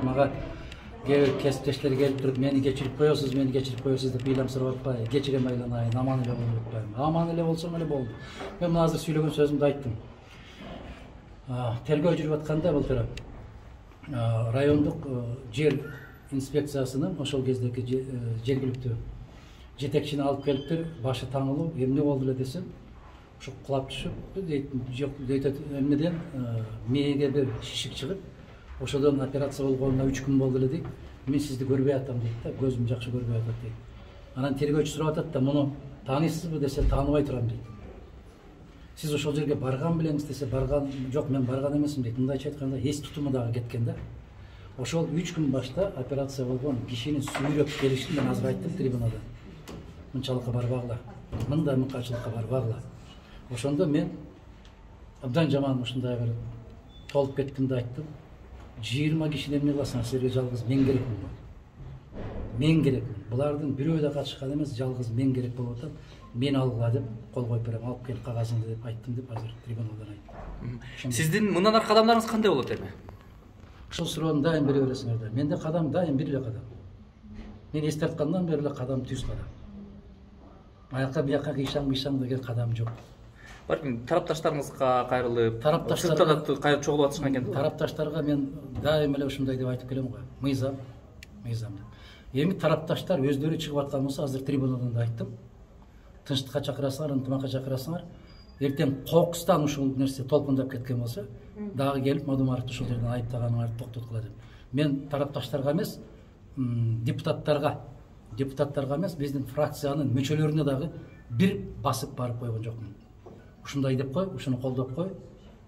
мага кесиптештер келип туруп мени кечирип коесуз деп ыйлам сурап атпайбы, кечирем айланайын, аман эле болуп атпайбы. Аман эле болсом эле болду. Мен мына азыр сүйлөгөн сөзүмдү айттым. Тергөө жүрүп атканда былтыр райондук жер инспекциясынын ошол кездеги жергиликтүү жетекчини алып келиптир, башы таңылуу, эмне болду эле десем, ушу кулап түшүп дейт, жок дейт, эмнеден мээге бир шишик чыгып, ошодон операция болгонуна 3 күн болду эле дейт. Мен сизди көрбөй атам дейт да, көзүм жакшы көрбөй атат дейт. Анан тергөөчү сурап атат да, муну тааныйсызбы десе, тааныбай турам дейт. Сиз ошол жерге барган белеңиз десе, барган жок, мен барган эмесмин дейт. Мындайча айтканда, эс тутуму дагы кеткен да. Ошол 3 күн башта операция болгон кишини сүйрөп келишин мен азыр айттым трибунада. Мынчалыкка барбагыла, мындай мыкаачылыкка барбагыла. Ошондо мен абдан жаман ушундай бир толуп кеттим да айттым. 20 кишини эмне кыласың, силерге жалгыз мен керекмин. Мен керекмин. Булардын бирөө да катышкан эмес, жалгыз мен керек болуп атат. Мен алгыла деп кол коюп берем, алып кел кагазыңды деп айттым деп азыр трибунадан айттым. Сиздин мындан аркы кадамдарыңыз кандай болот эми? Ушул суроону дайым бере бересиңер да. Менде кадам дайым бир эле кадам. Мен эс тарткандан бери эле кадам түз кадам. Аяка бияка кыйшаң деген кадам жок. Балким тарапташтарыңызга кайрылып, сыртта кайрылып чогулуп атышкан экен. Тарапташтарга мен дайым эле ушундай деп айтып келем го. Мыйзам деп. Эми тарапташтар өздөрү чыгып аткан болсо, азыр трибунадан да айттым. Тынчтыкка чакырасыңар, ынтымакка чакырасыңар. Эртең кокустан ушул нерсе толкундап кеткен болсо, дагы келип Мадумаровду ушул жерден айыптаганыңарды токтоткула деп. Мен тарапташтарга эмес, депутаттарга эмес, биздин фракциянын мүчөлөрүнө дагы бир басып барып койгон жокмун. Ушундай деп кой, ушуну колдоп кой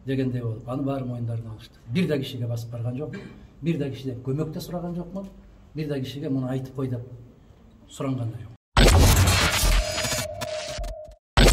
дегендей болуп, аны баары моюндарына алышты. Бир да кишиге басып барган жокмун, бир да кишиден көмөк да сураган жокмун, бир да кишиге муну айтып кой деп суранган да жок.